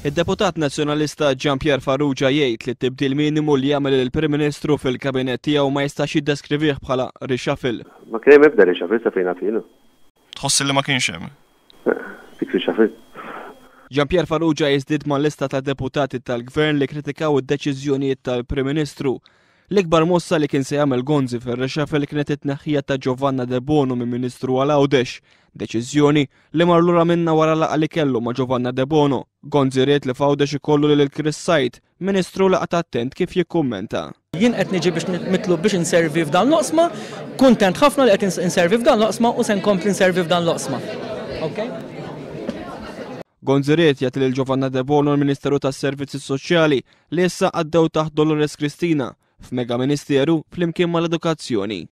Id-deputat Nazzjonalista Jean Pierre Farrugia jgħid li t-tibdil minimu li għamel il-Prim Ministru fil-kabinett tiegħu ma jistax jiddeskrivih bħala reshuffle. Ma kien hemm ebda reshuffle sa fejn naf jiena. Tħoss li ma kienx hemm? Dik reshuffle. Jean Pierre Farrugia jiżdied mal-lista ta' deputati tal-Gvern li kritikaw id-deċiżjonijiet tal-Prim Ministru. L-ikbar mossa li kien se jagħmel Gonzi fir-reshuffle kienet it-tneħħija ta' Giovanna Debono minn Ministru għal Għawdex, deċiżjoni li mar lura minnha wara laqgħa li kellu ma' Giovanna Debono. Gonzi ried li f'Għawdex ikollu lil Chris Said, Ministru li qagħad attent kif jikkummenta. Jien qed niġi biex mitlub biex inservi f'dan l-oqsma, kuntent ħafna li qed inservi f'dan l-oqsma u se nkompli nservi f'dan l-oqsma. Okay? Gonzi ried jagħti lil Giovanna Debono l-Ministeru tas-Servizzi Soċjali li issa għaddew taħt Dolores Cristina f'mega ministeru flimkien mal-edukazzjoni.